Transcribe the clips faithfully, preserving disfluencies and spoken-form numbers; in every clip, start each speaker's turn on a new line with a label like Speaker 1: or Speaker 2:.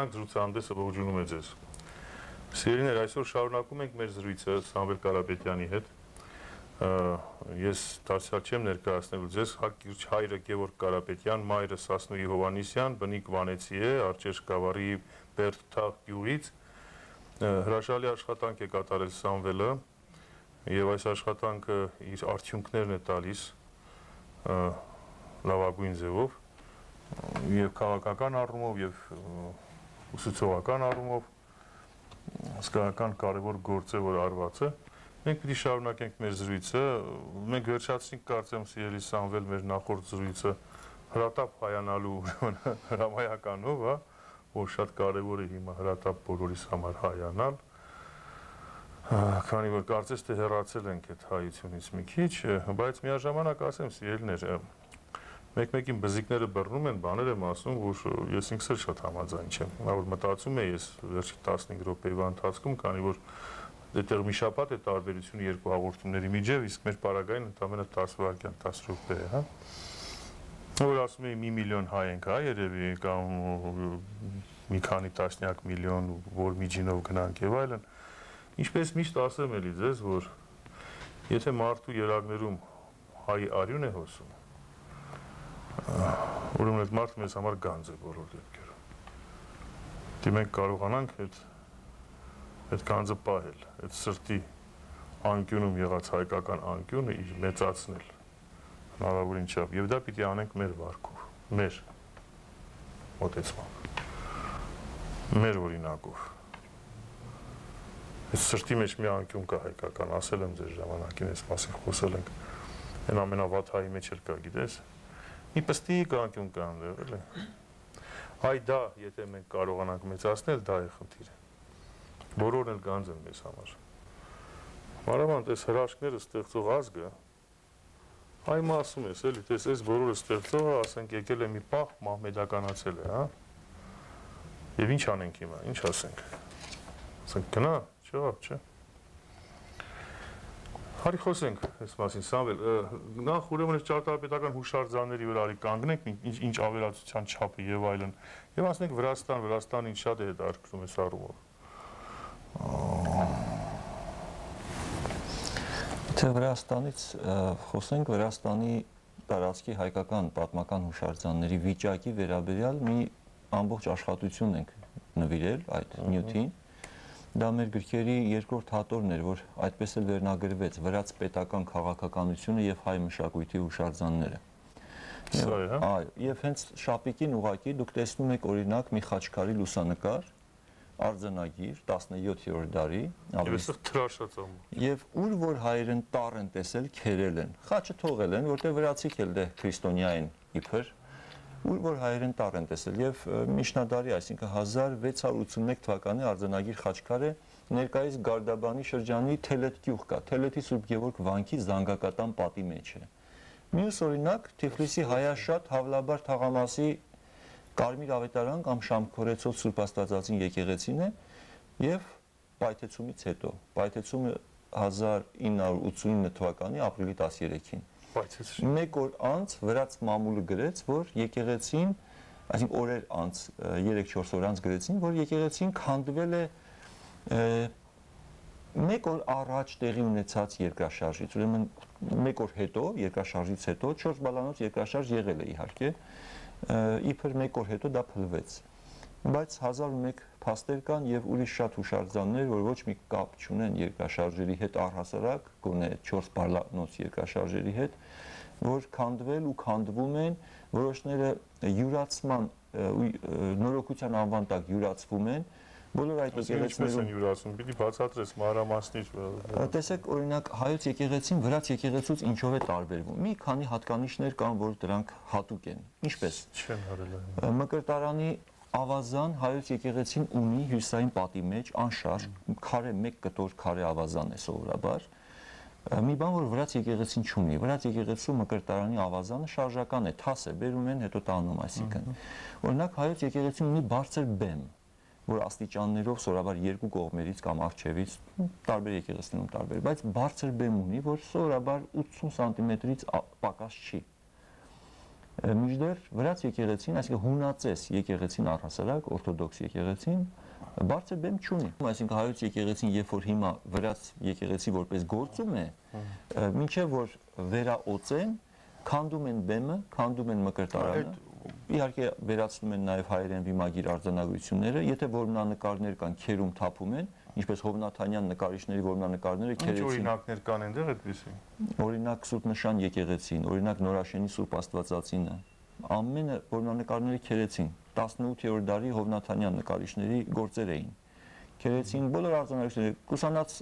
Speaker 1: Շարունակենք զրուցահանդեսը ողջունում է ձեզ։ Սիրելիներ, այսօր շարունակում ենք մեր զրույցը Սամվել Կարապետյանի հետ։ Ես դարձյալ չեմ ներկայացնելու ձեզ, հայրը Գևորգ Կարապետյան, մայրը Սասնուի Հովհաննիսյան, բնիկ Վանեցի է, Արջերտ Գավառի Բերդթաղ գյուղից։ Հրաշալի աշխատանք է կատարել Սամվելը եւ այս աշխատանքը իր արդյունքներն է տալիս լավագույն ձևով եւ քաղաքական առումով եւ ուսուցողական առումով հսկայական կարևոր գործ է, որ արված է։ Մենք պիտի շարունակենք մեր զրույցը, մենք վերջացրինք կարծեմ սիրելի Սամվել մեր նախորդ զրույցը հրատապ հայանալու հրամայականով, հա, որ շատ կարևոր է հիմա հրատապ բոլորիս համար հայանալ, քանի որ կարծես թե հեռացել ենք այդ հայությունից մի քիչ, բայց միաժամանակ ասեմ սիրելիներ, մեկ-մեկին բզիկները բռնում են, բաներ եմ ասում, որ ես ինքս էլ շատ համաձայն չեմ, որ մտածում եմ ես վերջի տասնհինգ րոպեվա ընթացքում, քանի որ դեռ մի շաբաթ է տարբերությունը երկու հաղորդումների միջև, իսկ մեր պարագային ընդամենը տասը վայրկյան, տասը րոպե է, հա։ Որ ասում էի մի միլիոն հայ ենք, հա, երևի, կամ մի քանի տասնյակ միլիոն, որ միջինով գնանք եւ այլն։ Ինչպես միշտ ասեմ էլի ձեզ, որ եթե մարդու երակներում հայ արյուն է հոսում, ուրեմն այդ մարդը մեզ համար գանձ է բոլոր դեպքերում։ Դե մենք կարողանանք այդ այդ գանձը պահել, այդ սրտի անկյունում եղած հայկական անկյունը իր մեծացնել հնարավորին չափ, եւ դա պիտի անենք մեր վարքով, մեր մոտեցմամբ, մեր օրինակով։ Այս սրտի մեջ մի անկյուն կա հայկական, ասել եմ ձեր ժամանակին, այս մասին խոսել ենք, այն ամենավատ հայի մեջ էլ կա, գիտես, մի պստիկ անկյուն կա այնտեղ, էլի։ Այ դա, եթե մենք կարողանանք մեծացնել, դա է խնդիրը։ Բոլորն էլ գանձ են մեզ համար։ Մանավանդ այս հրաշքները ստեղծող ազգը, այ ասում ես, էլի, տես այս բոլորը ստեղծողը, ասենք եկել է մի պահ, մահմեդականացել է, հա։ Եվ ինչ անենք հիմա, ինչ ասենք։ Ասենք գնա, չեղավ, չէ։ Հարի խոսենք այս մասին, Սամվել, նախ ուրեմն այս ճարտարապետական հուշարձանների վրա արի կանգնենք, ինչ ավերածության չափը եւ այլն, եւ ասենք Վրաստան, Վրաստանը ինչ շատ է հետաքրքրում այս առումով։
Speaker 2: Թե Վրաստանից խոսենք, Վրաստանի տարածքի հայկական պատմական հուշարձանների վիճակի վերաբերյալ մի ամբողջ աշխատություն ենք նվիրել այդ նյութին։ Դա մեր գրքերի երկրորդ հատորն էր, որ այդպես էլ վերնագրվեց վրաց պետական քաղաքականությունը եւ հայ մշակույթի հուշարձանները։ Այո, եւ հենց շապիկին ուղակի դուք տեսնում եք օրինակ մի խաչքարի լուսանկար, արձանագիր տասնյոթերորդ դարի, եւ ուր որ հայերեն տառ են տեսել, քերել են, խաչը թողել են, որտեղ վրացիք էլ դե քրիստոնյա են իբր, ուր որ հայերեն տառ են տեսել եւ միջնադարի, այսինքն հազար վեց հարյուր ութսունմեկ թվականի արձանագիր խաչքարը ներկայիս Գարդաբանի շրջանի Թելետ գյուղ կա, Թելետի Սուրբ Գևորգ վանքի զանգակատան պատի մեջ է։ Մյուս օրինակ Թիֆլիսի Հայաշատ Հավլաբար թաղամասի Կարմիր ավետարան կամ Շամքորեցով Սուրբ Աստվածածին եկեղեցին է եւ պայթեցումից հետո, պայթեցումը հազար ինը հարյուր ութսունինը թվականի ապրիլի տասներեքին։ Մեկ օր անց վրաց մամուլը գրեց, որ եկեղեցին, այսինքն օրեր անց, երեք-չորս օր անց գրեցին, որ եկեղեցին քանդվել է մեկ օր առաջ տեղի ունեցած երկրաշարժից, ուրեմն մեկ օր հետո, երկրաշարժից հետո, չորս բալանոց երկրաշարժ եղել է իհարկե, իբր մեկ օր հետո դա փլվեց, բայց հազար ու մեկ փաստեր կան եւ ուրիշ շատ հուշարձաններ, որ ոչ մի կապ չունեն երկրաշարժերի հետ առհասարակ, գոնե չորս բալանոց երկրաշարժերի հետ, որ քանդվել ու քանդվում են, որոշները յուրացման նորոգության անվան տակ յուրացվում են, բոլոր այդ
Speaker 1: եկեղեցիներում յուրացում, պիտի բացատրես մանրամասնից։
Speaker 2: Տեսեք, օրինակ հայոց եկեղեցին վրաց եկեղեցուց ինչով է տարբերվում։ Մի քանի հատկանիշներ կան, որ դրանք հատուկ են։ Ինչպես։
Speaker 1: Չեն արել։
Speaker 2: Մկրտարանի ավազան հայոց եկեղեցին ունի հյուսային պատի մեջ անշարժ քարե մեկ կտոր քարե ավազան է սովորաբար։ Մի բան, որ վրաց եկեղեցին չունի, վրաց եկեղեցու մկրտարանի ավազանը շարժական է, թաս է, բերում են, հետո տանում, այսինքն։ Օրինակ հայոց եկեղեցին ունի բարձր բեմ, որ աստիճաններով սովորաբար երկու կողմերից կամ առջևից տարբեր եկեղեցիներում տարբեր, բայց բարձր բեմ ունի, որ սովորաբար ութսուն սանտիմետրից պակաս չի։ Մինչդեռ վրաց եկեղեցին, այսինքն հունածես եկեղեցին առհասարակ, օրթոդոքս եկեղեցին բարձր բեմ չունի։ Այսինքն հայոց եկեղեցին, երբ որ հիմա վրաց եկեղեցի որպես գործում է, մինչև որ վերաօծեն, քանդում են բեմը, քանդում են մկրտարանը։ Իհարկե վերացնում են նաև հայերեն վիմագիր արձանագրությունները, եթե որմնանկարներ կան, քերում թափում են, ինչպես Հովնաթանյան նկարիչների որմնանկարները քերեցին։
Speaker 1: Ինչ օրինակներ կան այնտեղ այդպիսի։
Speaker 2: Օրինակ Սուրբ Նշան եկեղեցին, օրինակ Նորաշենի Սուրբ Աստվածածինը, ամենը որմնանկարները քերեցին, տասնութերորդ դարի Հովնաթանյան նկարիչների գործեր էին։ Քերեցին բոլոր արձանագրությունները, կուսանած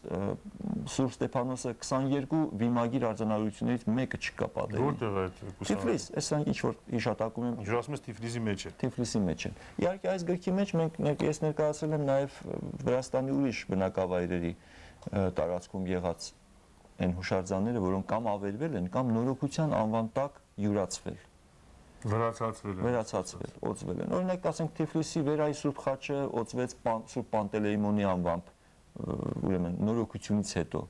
Speaker 2: Սուրբ Ստեփանոսը քսաներկու վիմագիր արձանագրություններից մեկը չկա պատերի։
Speaker 1: Որտեղ է այդ կուսանած։
Speaker 2: Թիֆլիս, ասենք ինչ որ հիշատակում եմ։
Speaker 1: Ինչ ասում ես Թիֆլիսի մեջ է։
Speaker 2: Թիֆլիսի մեջ է։ Իհարկե այս գրքի մեջ մենք ես ներկայացրել եմ նաև Վրաստանի ուրիշ բնակավայրերի տարածքում եղած այն հուշարձանները, որոնք կամ ավերվել են, կամ նորոգության անվան տակ յուրացվել։
Speaker 1: Վերացածվել են։
Speaker 2: Վերացածվել, օծվել են։ Օրինակ, ասենք Թիֆլիսի Վերայի Սուրբ խաչը օծվեց Սուրբ Պանտելեյմոնի անվամբ, ուրեմն նորոգությունից հետո,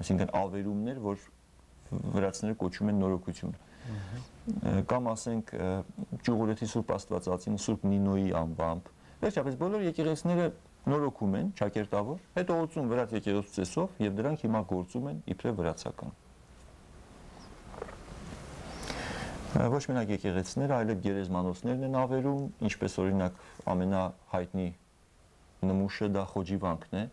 Speaker 2: այսինքն ավերումներ, որ վրացիները կոչում են նորոգություն։ Կամ ասենք Ճյուղուրեթի Սուրբ Աստվածածին Սուրբ Նինոյի անվամբ։ Վերջապես բոլոր եկեղեցիները նորոգում են, ճակերտավոր, հետո օծում վրաց եկեղեցու ծեսով եւ դրանք հիմա գործում են իբրև վրացական։ Ոչ մենակ եկեղեցիները, այլև գերեզմանոցներն են ավերում, ինչպես օրինակ ամենահայտնի նմուշը դա Խոջիվանքն է։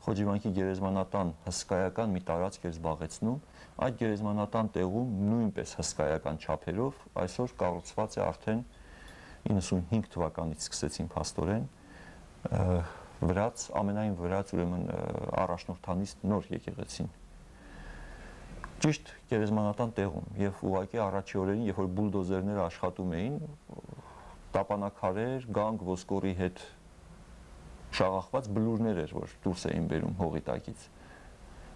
Speaker 2: Խոջիվանքի գերեզմանատան հսկայական մի տարածք էր զբաղեցնում, այդ գերեզմանատան տեղում նույնպես հսկայական չափերով այսօր կառուցված է արդեն իննսունհինգ թվականից սկսեցին փաստորեն վրաց, ամենայն վրաց ուրեմն առաջնորդանիստ նոր եկեղեցին։ Ճիշտ գերեզմանատան տեղում եւ ուղղակի առաջի օրերին, երբ որ բուլդոզերները աշխատում էին, տապանակարեր, գանգ, ոսկորի հետ շաղախված բլուրներ էր, որ դուրս էին բերում հողի տակից։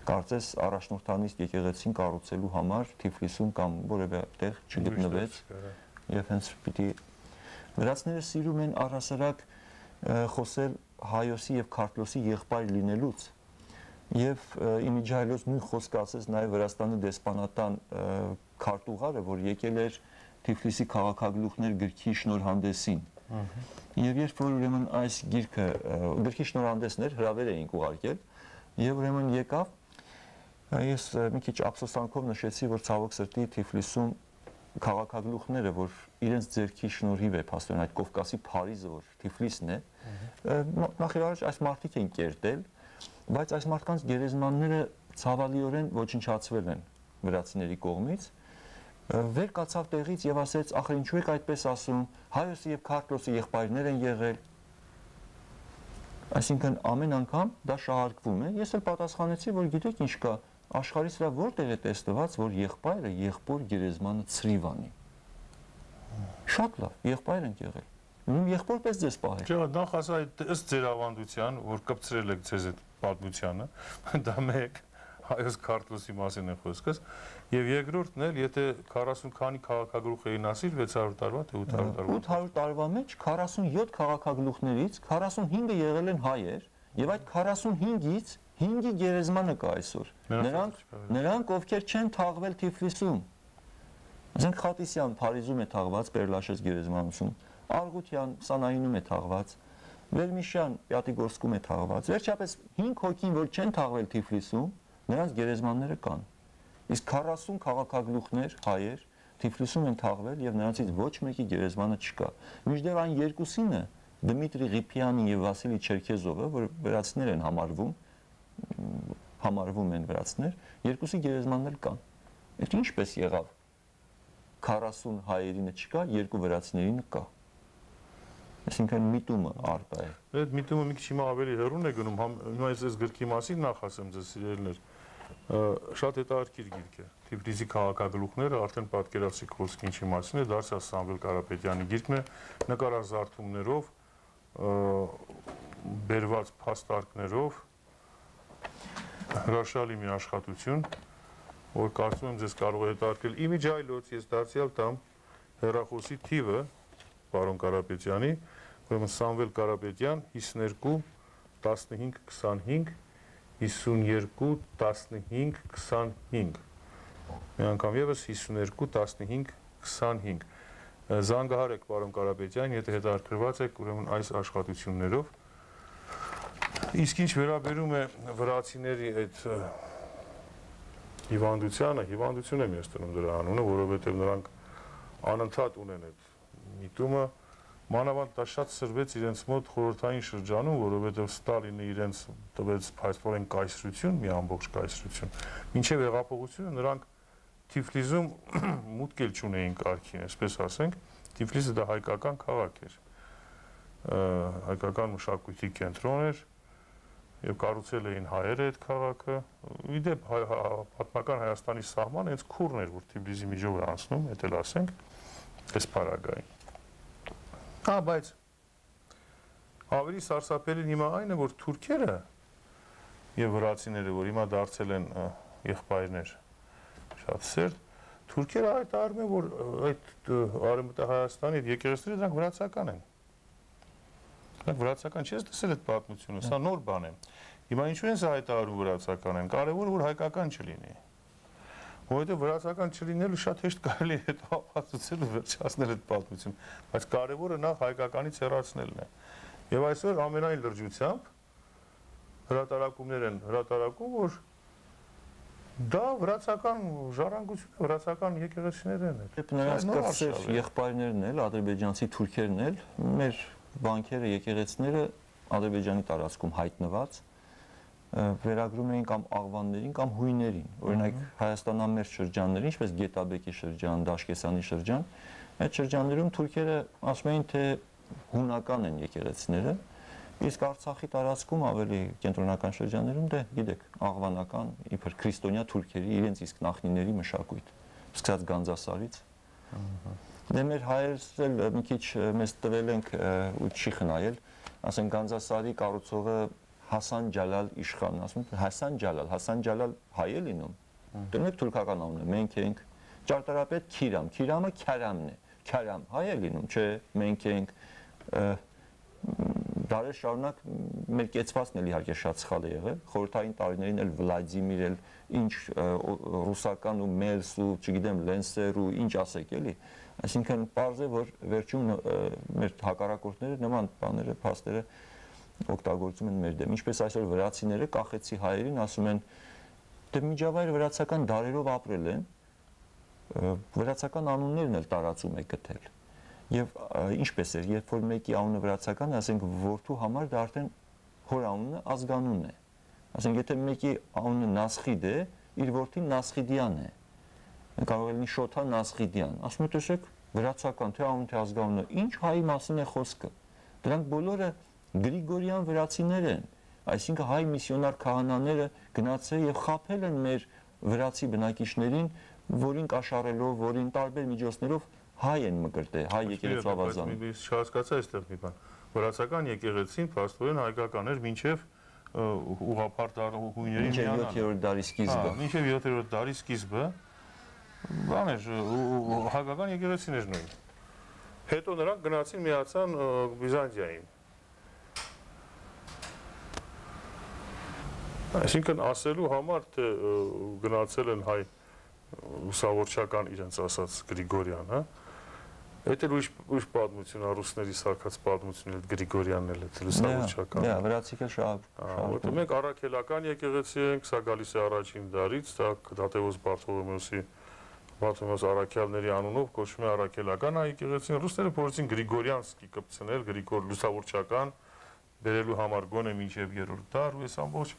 Speaker 2: Կարծես առաջնորդանիստ եկեղեցին կառուցելու համար Թիֆլիսում կամ որևէ տեղ չգտնվեց եւ հենց պիտի վրացիները սիրում են առհասարակ խոսել Հայոսի եւ Քարտլոսի եղբայր լինելուց։ Եվ իմիջայլոց նույն խոսքը ասեց նաև Վրաստանի դեսպանատան քարտուղարը, որ եկել էր Թիֆլիսի քաղաքագլուխներ գրքի շնորհանդեսին։ Եվ երբ որ ուրեմն այս գիրքը գրքի շնորհանդեսն էր, հրավեր էինք ուղարկել, եւ ուրեմն եկավ, ես մի քիչ ափսոսանքով նշեցի, որ ցավոք սրտի Թիֆլիսում քաղաքագլուխները, որ իրենց ձեռքի շնորհիվ է փաստորեն այդ Կովկասի Փարիզը, որ Թիֆլիսն է, նախ եւ առաջ այս մարդիկ են կերտել, բայց այս մարդկանց գերեզմանները ցավալիորեն ոչնչացվել են վրացիների կողմից, վեր կացավ տեղից եւ ասեց, ախր ինչու եք այդպես ասում, Հայոսի եւ Քարտլոսի եղբայրներ են եղել։ Այսինքն ամեն անգամ դա շահարկվում է։ Ես էլ պատասխանեցի, որ գիտեք ինչ կա, աշխարհի վրա որտեղ է տեսնված, որ եղբայրը եղբոր գերեզմանը ցրիվ անի։ Շատ լավ, եղբայր են եղել։ Ում եղբորպես ձեզ պահել։
Speaker 1: Չէ, նախ ասա ըստ ձեր ավանդության, որ կպցրել եք ձեզ այդ պատմությանը, դա մեկ Հայոց Քարտլոսի մասին է խոսքս, եւ երկրորդն էլ, եթե քառասուն քանի քաղաքագլուխ էին ասիր, վեց հարյուր տարվա թե ութ հարյուր տարվա։
Speaker 2: ութ հարյուր տարվա մեջ քառասունյոթ քաղաքագլուխներից քառասունհինգը եղել են հայեր, եւ այդ քառասունհինգից հինգի գերեզմանը կա այսօր։ Նրանք նրանք ովքեր չեն թաղվել Թիֆլիսում։ Ասենք Խատիսյան Փարիզում է թաղված Պերլաշես գերեզմանոցում, Արգուտյան Սանայինում է թաղված, Վերմիշյան Պյատիգորսկում է թաղված։ Վերջապես հինգ հոգին, որ չեն թաղվել Թիֆլիսում, նրանց գերեզմանները կան։ Իսկ քառասուն քաղաքագլուխներ հայեր Թիֆլիսում են թաղվել եւ նրանցից ոչ մեկի գերեզմանը չկա։ Մինչդեռ այն երկուսինը Դմիտրի Ղիփյանի եւ Վասիլի Չերքեզովը, որ վրացիներ են համարվում, համարվում են վրացիներ, երկուսի գերեզմաններ կան։ Այդ ինչպես եղավ։ քառասուն հայերինը չկա, երկու վրացիներինը կա։ Այսինքն միտումը արտա է։
Speaker 1: Այդ միտումը մի քիչ հիմա ավելի հեռուն է գնում, հիմա ես գրքի մասին նախ ասեմ ձեզ սիրելիներ։ Շատ հետաքրքիր գիրք է։ Թիֆլիսի քաղաքագլուխները արդեն պատկերացրիք խոսքի ինչի մասին է, դարձյալ Սամվել Կարապետյանի գիրքն է, նկարազարդումներով, բերված փաստարկներով, հրաշալի մի աշխատություն, որ կարծում եմ ձեզ կարող է հետաքրքրել։ Իմիջայլոց ես դարձյալ տամ հեռախոսի թիվը պարոն Կարապետյանի, ուրեմն Սամվել Կարապետյան հիսուներկու տասնհինգ քսանհինգ հիսուներկու տասնհինգ քսանհինգ մի անգամ եւս հիսուներկու տասնհինգ քսանհինգ Զանգահար եք պարոն Կարապետյան, եթե հետաքրքրված եք ուրեմն այս աշխատություններով։ Իսկ ինչ վերաբերում է վրացիների այդ հիվանդությանը, հիվանդություն եմ ես տնում դրա անունը, որովհետև նրանք անընդհատ ունեն այդ միտումը, մանավանդ դա շատ սրվեց իրենց մոտ խորհրդային շրջանում, որովհետև Ստալինը իրենց տվեց փաստորեն կայսրություն, մի ամբողջ կայսրություն։ Մինչև հեղափոխությունը նրանք Թիֆլիսում մուտք էլ չունեին կարգին, այսպես ասենք, Թիֆլիսը դա հայկական քաղաք էր, հայկական մշակույթի կենտրոն էր եւ կառուցել էին հայերը այդ քաղաքը։ Իդեպ պատմական Հայաստանի սահմանը հենց քուրն էր, որ Թիֆլիսի միջով է անցնում, դա էլ ասենք, այս փարագային։ Հա, բայց ավելի սարսափելին հիմա այն է, որ թուրքերը եւ վրացիները, որ հիմա դարձել են եղբայրներ, շատ սերտ, թուրքերը հայտարարում են, որ այդ Արևմտյան Հայաստանի եկեղեցիները դրանք վրացական են։ Դրանք վրացական չես տեսել այդ պատմությունը, սա նոր բան է։ Հիմա ինչու են սա հայտարարում վրացական են, կարևորը որ հայկական չլինի։ Որովհետև վրացական չլինելու շատ հեշտ կարելի է հետո ապացուցել ու վերջացնել այդ պատմությունը, բայց կարևորը նախ հայկականից հեռացնելն է։ Եվ այսօր ամենայն լրջությամբ հրատարակումներ են հրատարակում, որ դա վրացական ժառանգություն է, վրացական եկեղեցիներն են։
Speaker 2: Նրանց կրտսեր եղբայրներն էլ, ադրբեջանցի թուրքերն էլ, մեր բանկերը, եկեղեցիները Ադրբեջանի տարածքում հայտնված վերագրում էին կամ աղվաններին կամ հույներին, օրինակ Հայաստանամերձ շրջանների, ինչպես Գետաբեկի շրջան, Դաշկեսանի շրջան, այդ շրջաններում թուրքերը ասում էին, թե հունական են եկեղեցիները, իսկ Արցախի տարածքում ավելի կենտրոնական շրջաններում դե գիտեք, աղվանական, իբր քրիստոնյա թուրքերի իրենց իսկ նախնիների մշակույթ, սկսած Գանձասարից։ Դե մեր հայերս էլ մի քիչ մեզ տվել ենք ու չի խնայել, ասենք Գանձասարի կառուցողը Հասան Ջալալ իշխանն, ասում են Հասան Ջալալ, Հասան Ջալալ հայ է լինում։ Դրանք թուրքական անուն է, մենք ենք ճարտարապետ Քիրամ, Քիրամը Քարամն է, Քարամ հայ է լինում, չէ, մենք ենք դարեր շարունակ մեր կեցվածն էլ իհարկե շատ սխալ է եղել, խորհրդային տարիներին էլ Վլադիմիր էլ ինչ ռուսական ու Մելս ու չգիտեմ Լենսեր ու ինչ ասեք էլի, այսինքն պարզ է, որ վերջում մեր հակառակորդները նման բաները, փաստերը օգտագործում են մեր դեմ, ինչպես այսօր վրացիները կախեցի հայերին ասում են, դե միջավայր վրացական դարերով ապրել են, վրացական անուններն էլ տարածում է գտել։ Եվ ինչպես էր, երբ որ մեկի անունը վրացական է, ասենք որդու համար դա արդեն հոր անունը ազգանուն է։ Ասենք եթե մեկի անունը Նասխիդ է, իր որդին Նասխիդյան է։ Կարող է լինի Շոթա Նասխիդյան։ Ասում եք, տեսեք, վրացական թե անուն թե ազգանունը, ինչ հայի մասին է խոսքը։ Դրանք բոլորը Գրիգորյան վրացիներ են, այսինքն հայ միսիոնար քահանաները գնացել եւ խաբել են մեր վրացի բնակիչներին, որին կաշառելով, որին տարբեր միջոցներով հայ են մկրտել, հայ եկեղեցու ավազան։
Speaker 1: Ես չհասկացա այստեղ մի բան։ Վրացական եկեղեցին փաստորեն հայկական էր մինչև ուղղափառ հույների
Speaker 2: միանալը։ Մինչև յոթերորդ դարի սկիզբը։
Speaker 1: Մինչև յոթերորդ դարի սկիզբը բան էր, հայկական եկեղեցին էր նույն։ Հետո նրանք գնացին միացան Բյուզանդիային։ Այսինքն ասելու համար, թե գնացել են հայ լուսավորչական իրենց ասած Գրիգորյան, հա, այդ էլ ուրիշ պատմություն, ռուսների սարքած պատմություն էլ Գրիգորյանն էլ է լուսավորչական։
Speaker 2: Դա վրացիկը շահ։
Speaker 1: Որտեղ մենք առաքելական եկեղեցի ենք, սա գալիս է առաջին դարից, դա Դատեոս Բարթոլոմեոսի Բարթոլոմեոս առաքյալների անունով կոչվում է առաքելական եկեղեցին։ Ռուսները փորձեցին Գրիգորյանսկի կպցնել, Գրիգոր լուսավորչական բերելու համար գոնե մինչև երրորդ դար, ու այս ամբողջ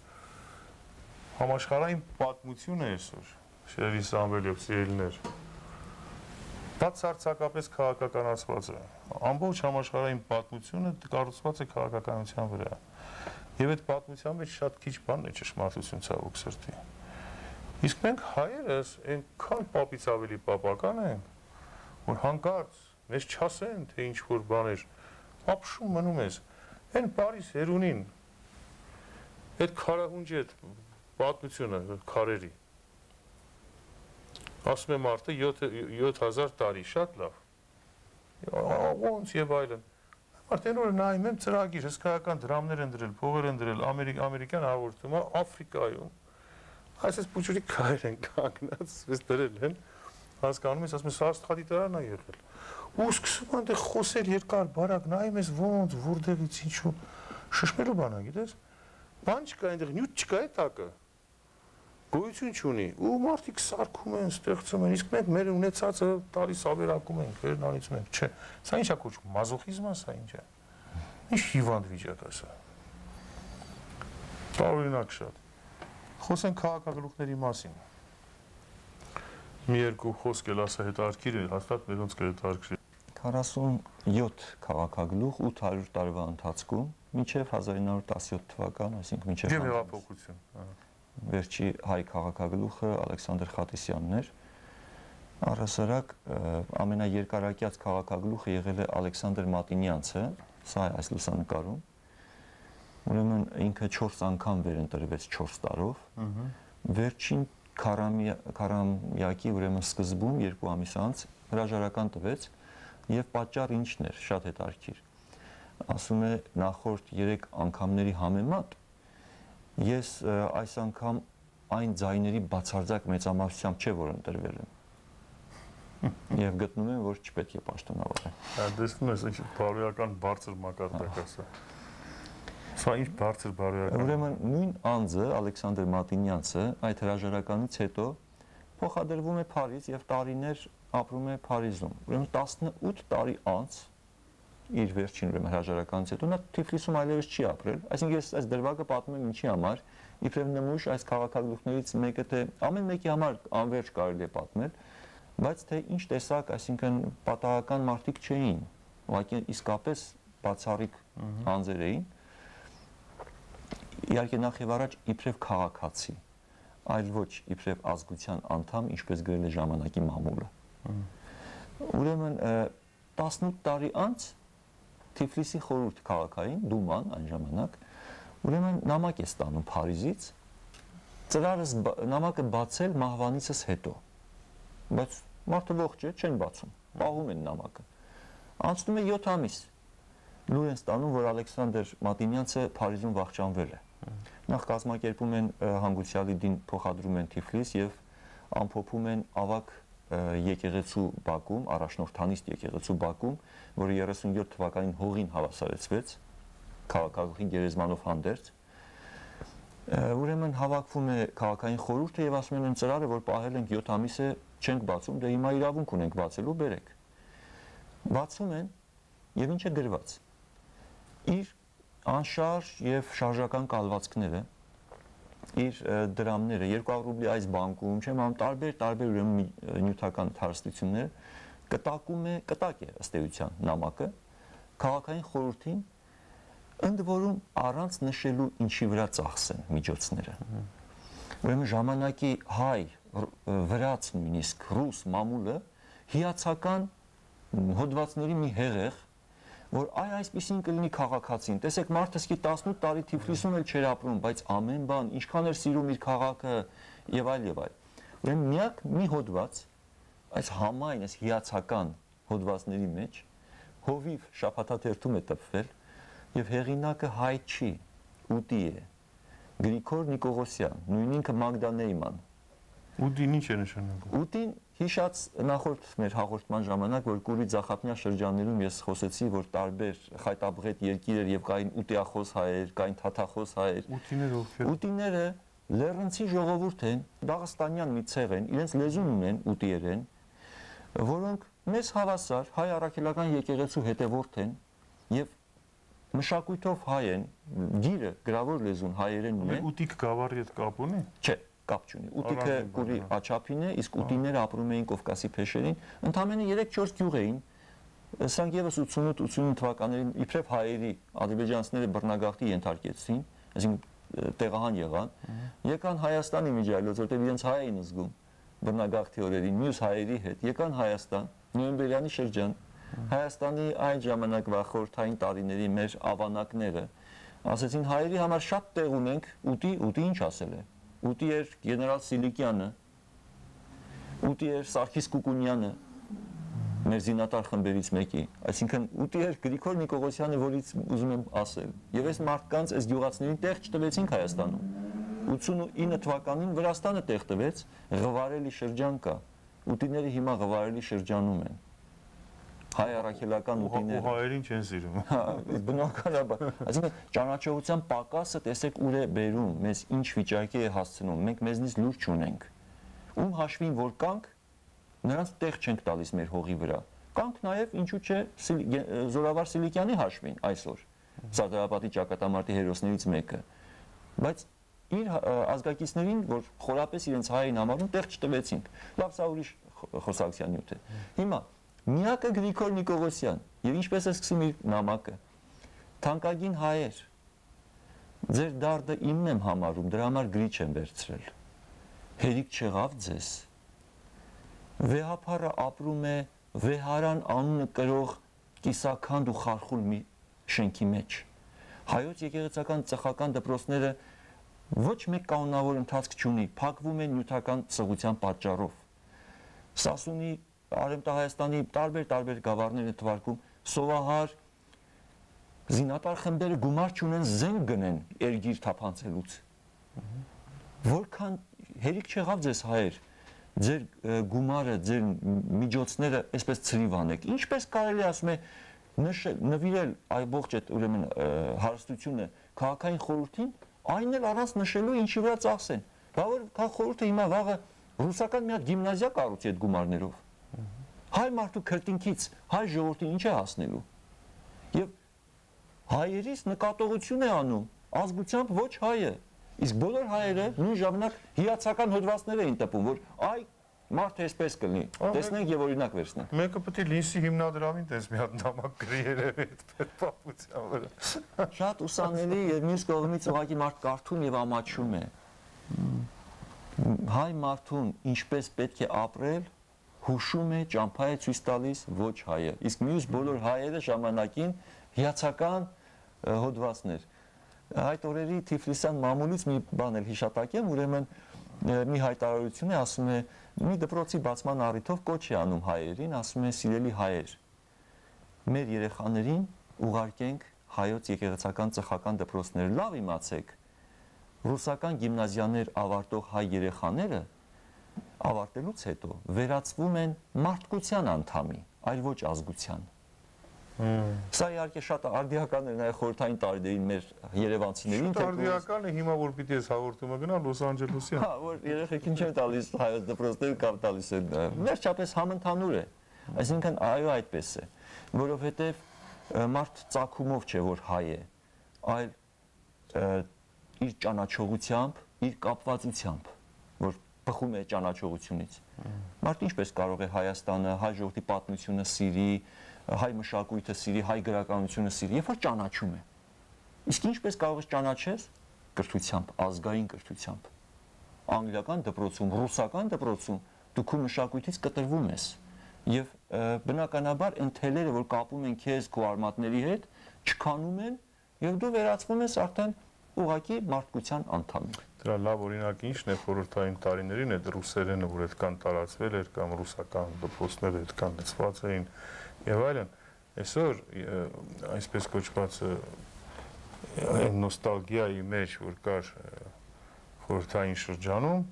Speaker 1: համաշխարհային պատմություն է այսօր, շերի Սամվելիով սիրելիներ, բացարձակապես քաղաքականացված է, ամբողջ համաշխարհային պատմությունը կառուցված է քաղաքականության վրա, եւ այդ պատմության մեջ շատ քիչ բան է ճշմարտություն ցավոք սրտի, իսկ մենք հայերս այնքան պապից ավելի պապական ենք, որ հանկարծ մեզ չասեն, թե ինչ որ բաներ, ապշում մնում ես, այն Փարիզ Հերունին, այդ քարահունջի այդ պատմությունը քարերի ասում եմ մարդը յոթ հազար տարի շատ լավ ոնց եւ այլն մարդեն որ նայում եմ ծրագիր հսկայական դրամներ են դրել փողեր են դրել ամերիկյան հաղորդումը Աֆրիկայում այսպես փուչուրի քայր են կանգնած ես դրել են հասկանում ես, ասում ես, սա աստղադիտարանն է եղել։ Ու սկսում այնտեղ խոսել երկար բարակ, նայում ես ոնց, որտեղից ինչու, շշմելու բան է, գիտես։ Բան չկա այնտեղ, նյութ չկա է տակը։ Գոյություն չունի, ու մարդիկ սարքում են, ստեղծում են, իսկ մենք մեր ունեցածը տալիս ավերակում ենք, վերն անիծում ենք, չէ։ Սա ի՞նչ է կոչվում, մազոխիզմ է, սա ինչ է։ Ինչ հիվանդ վիճակ է սա։ Տարօրինակ շատ։ Խոսենք քաղաքագլուխների մասին։ Մի երկու խոսք էլ ասա հետաքրքիր է, հաստատ մերոնց կհետաքրքրի։
Speaker 2: քառասունյոթ քաղաքագլուխ ութ հարյուր տարվա ընթացքում մինչև հազար ինը հարյուր տասնյոթ թվական, այսինքն մինչև
Speaker 1: Եվ հեղափոխություն։
Speaker 2: Վերջի հայ քաղաքագլուխը Ալեքսանդր Խատիսյանն էր։ Առհասարակ ամենաերկարակյաց քաղաքագլուխը եղել է Ալեքսանդր Մատինյանցը, սա է այս լուսանկարում։ Ուրեմն ինքը չորս անգամ վերընտրվեց չորս տարով։ Վերջին քառամյակի ուրեմն սկզբում երկու ամիս անց հրաժարական տվեց եւ պատճառը ինչն էր, շատ հետաքրքիր։ Ասում է նախորդ երեք անգամների համեմատ ես այս անգամ այն ձայների բացարձակ մեծամասնությամբ չէ որ ընտրվել եմ։ Եվ գտնում եմ որ չպետք է պաշտոնավարել։
Speaker 1: Տեսնում ես ինչ բարոյական բարձր մակարդակ է սա։ Սա ինչ բարձր բարոյական։
Speaker 2: Ուրեմն նույն անձը Ալեքսանդր Մատինյանցը այդ հրաժարականից հետո փոխադրվում է Փարիզ եւ տարիներ ապրում է Փարիզում։ Ուրեմն տասնութ տարի անց իր վերջին ուրեմն հրաժարականից հետո նա Թիֆլիսում այլևս չի ապրել, այսինքն ես այս դրվագը պատմում եմ ինչի համար, իբրև նմուշ այս քաղաքագլուխներից մեկը թե ամեն մեկի համար անverջ կարելի է պատմել, բայց թե ինչ տեսակ, այսինքն պատահական մարդիկ չէին, ուղղակի իսկապես բացառիկ անձեր էին, իհարկե նախ եւ առաջ իբրև քաղաքացի, այլ ոչ իբրև ազգության անդամ, ինչպես գրել է ժամանակի մամուլը։ Ուրեմն տասնութ տարի անց Թիֆլիսի խորհուրդ քաղաքային դուման այն ժամանակ ուրեմն նամակ է ստանում Փարիզից ծրարս նամակը բացել մահվանիցս հետո բայց մարդը ողջ է չեն բացում պահում են նամակը անցնում է յոթ ամիս լուր են ստանում որ Ալեքսանդր Մատինյանցը Փարիզում վախճանվել է նախ կազմակերպում են հանգուցյալի դին փոխադրում են Թիֆլիս եւ ամփոփում են ավակ եկեղեցու բակում, առաջնորդանիստ եկեղեցու բակում, որը երեսունյոթ թվականին հողին հավասարեցվեց, քաղաքագլխին գերեզմանով հանդերձ։ Ուրեմն հավաքվում է քաղաքային խորհուրդը եւ ասում են ծրարը, որ պահել ենք յոթ ամիս է չենք բացում, դե հիմա իրավունք ունենք բացելու, բերեք։ Բացում են եւ ինչ է գրված։ Իր անշարժ եւ շարժական կալվածքները իր դրամները երկու հարյուր ռուբլի այս բանկում չեմ ամ տարբեր տարբեր ուրեմն նյութական հարստություններ կտակում է կտակ է ըստ էության նամակը քաղաքային խորհրդին ընդ որում առանց նշելու ինչի վրա ծախսեն միջոցները ուրեմն ժամանակի հայ վրաց նույնիսկ ռուս մամուլը հիացական հոդվածների մի հեղեղ որ այ այսպեսին կլինի քաղաքացին տեսեք մարդը սկի տասնութ տարի Թիֆլիսում էլ չէր ապրում բայց ամեն բան ինչքան էր սիրում իր քաղաքը եւ այլ եւ այլ ուրեմն միակ մի հոդված այս համայն այս հիացական հոդվածների մեջ հովիվ շաբաթաթերթում է տպվել եւ հեղինակը հայ չի ուտի է Գրիգոր Նիկողոսյան նույն ինքը Մագդա Նեյման
Speaker 1: Ուտին ինչ է նշանակում
Speaker 2: Ուտին հիշած նախորդ մեր հաղորդման ժամանակ որ Կուրի Ձախապնյա շրջաններում ես խոսեցի որ տարբեր խայտաբղետ երկիրեր եւ կային ուտիախոս հայեր, կային թաթախոս հայեր
Speaker 1: Ուտիները ովքեր
Speaker 2: Ուտիները լեռնցի ժողովուրդ են, Դաղստանյան մի ցեղ են, իրենց լեզուն ունեն ուտիերեն, որոնք մեզ հավասար հայ առաքելական եկեղեցու հետևորդ են եւ մշակույթով հայ են, գիրը գրավոր լեզուն հայերեն ունեն։
Speaker 1: Ուտիկ գավառի հետ կապ ունի։
Speaker 2: Չէ, կապ չունի։ Ուտիկը Կուրի աչափին է, իսկ ուտիները ապրում էին Կովկասի փեշերին, ընդամենը երեք-չորս գյուղ էին։ Սրանք եւս ութսունութ ութսունինը թվականներին իբրև հայերի ադրբեջանցիները բռնագաղթի ենթարկեցին, այսինքն տեղահան եղան, եկան Հայաստանի միջայլոց, որտեղ իրենց հայ էին զգում բռնագաղթի օրերին, մյուս հայերի հետ, եկան Հայաստան, նոյեմբերյանի շրջան, Հայաստանի այն ժամանակվա խորհրդային տարիների մեր ավանակները ասեցին հայերի համար շատ տեղ ունենք, ուտի, ուտի ինչ ասել է։ Ուտի էր գեներալ Սիլիկյանը, ուտի էր Սարգիս Կուկունյանը, մեր զինատար խմբերից մեկի, այսինքն ուտի էր Գրիգոր Նիկողոսյանը, որից ուզում եմ ասել։ Եվ այս մարդկանց, այս գյուղացիներին տեղ չտվեցինք Հայաստանում։ ութսունինը թվականին Վրաստանը տեղ տվեց, Ղվարելի շրջան կա, ուտիները հիմա Ղվարելի շրջանում են։ Հայ առաքելական ուտիները։
Speaker 1: Ու հայերին չեն սիրում։
Speaker 2: Հա, բնականաբար։ Այսինքն ճանաչողության պակասը տեսեք ուր է բերում, մեզ ինչ վիճակի է հասցնում։ Մենք մեզնից լուր չունենք։ Ում հաշվին որ կանք, նրանց տեղ չենք տալիս մեր հողի վրա։ Կանք նաև ինչու՞ չէ Զորավար Սիլիկյանի հաշվին այսօր։ Սադրապատի ճակատամարտի հերոսներից մեկը։ Բայց իր ազգակիցներին, որ խորապես իրենց հային համարում, տեղ չտվեցինք։ Լավ, սա ուրիշ խոսակցության նյութ է։ Հիմա միակը Գրիգոր Նիկողոսյան, եւ ինչպես է սկսում իր նամակը։ Թանկագին հայեր, ձեր դարդը իմն եմ համարում, դրա համար գրիչ եմ վերցրել։ Հերիք չեղավ ձեզ։ Վեհափառը ապրում է Վեհարան անունը կրող կիսաքանդ ու խարխուլ մի շենքի մեջ։ Հայոց եկեղեցական ծխական դպրոցները ոչ մեկ կանոնավոր ընթացք չունի, փակվում են նյութական սղության պատճառով։ Սասունի, Արևմտահայաստանի տարբեր-տարբեր գավառներ են թվարկում, սովահար զինատար խմբերը գումար չունեն զենք գնեն երգիր թափանցելուց։ Որքան հերիք չեղավ ձեզ հայեր, ձեր գումարը, ձեր միջոցները այսպես ցրիվ անեք։ Ինչպես կարելի ասում է նվիրել այ ողջ այդ ուրեմն հարստությունը քաղաքային խորհրդին, այն էլ առանց նշելու ինչի վրա ծախսեն։ Բա որ քաղաք խորհուրդը հիմա վաղը ռուսական մի հատ գիմնազիա կառուցի այդ գումարներով։ Հայ մարդու քրտինքից հայ ժողովրդին ինչ է հասնելու։ Եվ հայերից նկատողություն է անում ազգությամբ ոչ հայը։ Իսկ բոլոր հայերը նույն ժամանակ հիացական հոդվածներ էին տպում, որ այ մարդը այսպես կլինի։ Տեսնենք եւ օրինակ վերցնենք։
Speaker 1: Մեկը պետք է Լինսի հիմնադրամին տես մի հատ նամակ գրի երևի այդ պատմության վրա։
Speaker 2: Շատ ուսանելի եւ մյուս կողմից ուղղակի մարդ կարդում եւ ամաչում է։ Հայ մարդուն ինչպես պետք է ապրել, հուշում է, ճամփա է ցույց տալիս ոչ հայը։ Իսկ մյուս բոլոր հայերը ժամանակին հիացական հոդվածներ։ Այդ օրերի Թիֆլիսյան մամուլից մի բան էլ հիշատակեմ, ուրեմն մի հայտարարություն է, ասում է, մի դպրոցի բացման առիթով կոչ է անում հայերին, ասում է սիրելի հայեր, մեր երեխաներին ուղարկենք հայոց եկեղեցական ծխական դպրոցներ, լավ իմացեք, ռուսական գիմնազիաներ ավարտող հայ երեխաները ավարտելուց հետո վերածվում են մարդկության անդամի, այլ ոչ ազգության։ Սա իհարկե շատ արդիական է նաև խորհրդային տարիներին մեր երևանցիներին։
Speaker 1: Շատ արդիական է հիմա որ պիտի ես հաղորդումը գնա Լոս Անջելեսյան։
Speaker 2: Հա, որ երեխեքին չեն տալիս հայոց դպրոցներ կամ տալիս են։ Վերջապես համընդհանուր է։ Այսինքն այո այդպես է, որովհետև մարդ ծագումով չէ որ հայ է, այլ իր ճանաչողությամբ, իր կապվածությամբ, որ բխում է ճանաչողությունից։ Մարդ ինչպես կարող է Հայաստանը, հայ ժողովրդի պատմությունը սիրի, հայ մշակույթը սիրի, հայ գրականությունը սիրի, երբ որ ճանաչում է։ Իսկ ինչպես կարող ես ճանաչես կրթությամբ, ազգային կրթությամբ։ Անգլիական դպրոցում, ռուսական դպրոցում դու քո մշակույթից կտրվում ես եւ բնականաբար այն թելերը, որ կապում են քեզ քո արմատների հետ, չքանում են եւ դու վերածվում ես արդեն ուղղակի մարդկության անդամի։
Speaker 1: Դրա լավ օրինակը ինչն է խորհրդային տարիներին այդ ռուսերենը, որ այդքան տարածվել էր կամ ռուսական դպրոցները այդքան լցված էին եւ այլն, այսօր այսպես կոչված նոստալգիայի մեջ, որ կար խորհրդային շրջանում,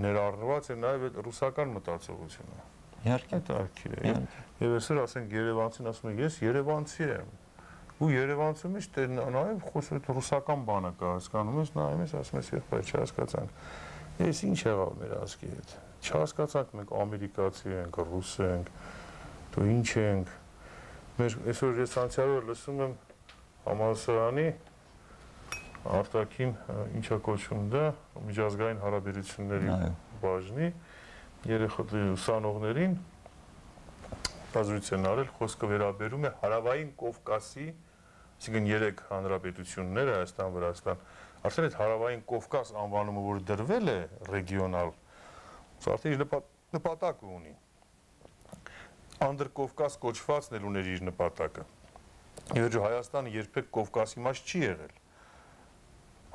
Speaker 1: ներառված է նաեւ այդ ռուսական մտածողությունը։
Speaker 2: Իհարկե,
Speaker 1: տարքի է։ Եվ այսօր ասենք Երևանցին ասում է, ես Երևանցի եմ։ Ու Երևանցու մեջ նաև խոսում ռուսական բանը կա, հասկանում ես, նայում ես, ասում ես, եղբայր, չհասկացանք։ Ես ինչ եղավ մեր ազգի հետ։ Չհասկացանք, մենք ամերիկացի ենք, ռուս ենք, դու ինչ ենք։ Մեր այսօր ես անցյալով լսում եմ համալսարանի արտաքին ինչա կոչվում դա, միջազգային հարաբերությունների բաժնի երեխաների ուսանողներին բազրություն արել, խոսքը վերաբերում է Հարավային Կովկասի, այսինքն երեք հանրապետություններ, Հայաստան, Վրաստան, արդեն այդ Հարավային Կովկաս անվանումը, որ դրվել է ռեգիոնալ, արդեն իր նպատակ ունի։ Անդրկովկաս կոչվածն էլ ուներ իր նպատակը։ Եվ Հայաստանը երբեք Կովկասի մաս չի եղել։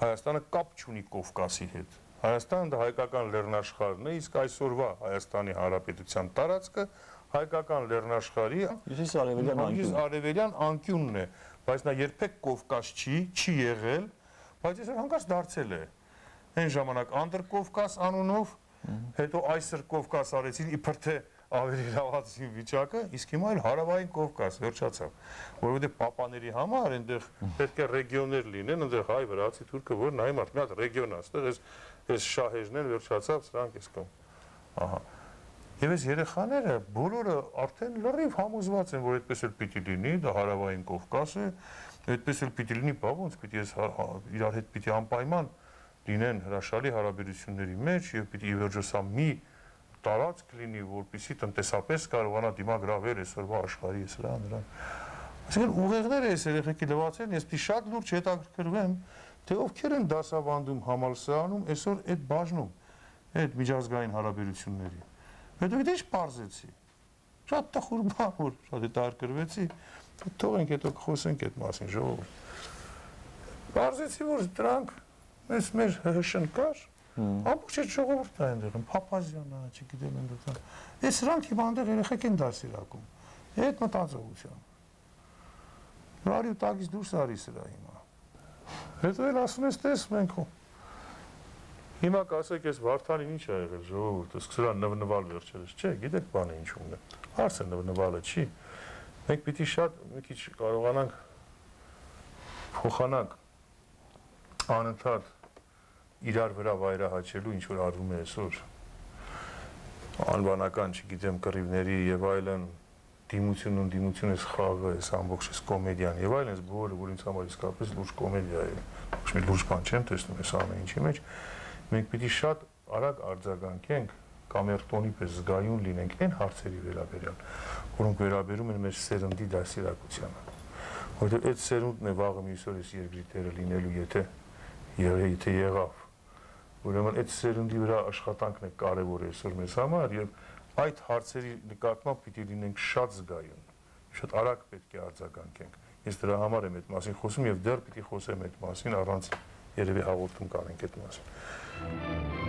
Speaker 1: Հայաստանը կապ չունի Կովկասի հետ։ Հայաստանը դա հայկական լեռնաշխարհն է, իսկ այսօրվա Հայաստանի Հանրապետության տարածքը հայկական լեռնաշխարհի հյուսիսարևելյան անկյունն է, բայց նա երբեք Կովկաս չի, չի եղել, բայց այսօր հանկարծ դարձել է։ Այն ժամանակ Անդրկովկաս անունով հետո այսօր Կովկաս արեցին իբր թե ավելի լավացի վիճակը, իսկ հիմա էլ հարավային Կովկաս վերջացավ, որովհետև պապաների համար այնտեղ պետք է ռեգիոններ լինեն, այնտեղ հայ, վրացի, թուրքը, որ նայում արդ մի հատ ռեգիոն է, այստեղ այս այս շահերն են վերջացավ, սրանք էս կողմ։ Ահա։ Եվ այս երեխաները բոլորը արդեն լրիվ համոզված են, որ այդպես էլ պիտի լինի, դա հարավային Կովկաս է, այդպես էլ պիտի լինի, բա ոնց պիտի այս իրար հետ պիտի անպայման լինեն հրաշալի հարաբերությունների մեջ եւ պիտի ի վերջո սա մի տարածք լինի, որպեսզի տնտեսապես կարողանա դիմագրավել այսօրվա աշխարհի սրա նրան։ Այսինքն ուղեղները այս երեխեքի լվացեն, ես պիտի շատ լուրջ հետաքրքրվեմ, թե ովքեր են դասավանդում համալսարանում այսօր այդ բաժնում, այդ միջազգային հարաբերությունների։ Հետո գիտես ինչ պարզեցի։ Շատ տխուր բան, որ շատ հետաքրքրվեցի, թողենք հետո խոսենք այդ մասին ժողովուրդ։ Պարզեցի, որ դրանք մեզ մեր հշն կար, ամբողջ այդ ժողովուրդն է այնտեղ, Փափազյանը, չգիտեմ այնտեղ։ Այս սրանք հիմա այնտեղ երեխեք են դասիրակում։ Այդ մտածողությամբ։ Բարի ու տակից դուրս արի սրա հիմա։ Հետո էլ ասում ես, տես մենք հիմա կասեք, ես Վարդանին ինչ ա եղել ժողովուրդը, սկսել նվնվալ վերջերս, չէ, գիտեք բանը ինչումն է։ Հարցը նվնվալը չի։ Մենք պիտի շատ մի քիչ կարողանանք փոխանանք անընդհատ իրար վրա վայրահաչելու ինչ որ արվում է այսօր անվանական, չգիտեմ, կռիվների եւ այլն դիմությունն ու դիմություն էս խաղը, էս ամբողջ էս կոմեդիան եւ այլն, էս բոլորը, որ ինձ համար իսկապես լուրջ կոմեդիա է։ Ոչ մի լուրջ բան չեմ տեսնում այս ամեն ինչի մեջ։ Մենք պիտի շատ արագ արձագանքենք, կամերտոնի պես զգայուն լինենք այն հարցերի վերաբերյալ, որոնք վերաբերում են մեր սերնդի դասիրակությանը։ Որովհետև այդ սերունդն է վաղը մյուս օր էս երկրի տերը լինելու, եթե եթե եղավ։ Ուրեմն այդ սերնդի վրա աշխատանքն է կարևոր այսօր մեզ համար եւ այդ հարցերի նկատմամբ պիտի լինենք շատ զգայուն, շատ արագ պետք է արձագանքենք։ Ես դրա համար եմ այդ մասին խոսում եւ դեռ պիտի խոսեմ այդ մասին, առանց երևի հաղորդում կանենք այդ մասին։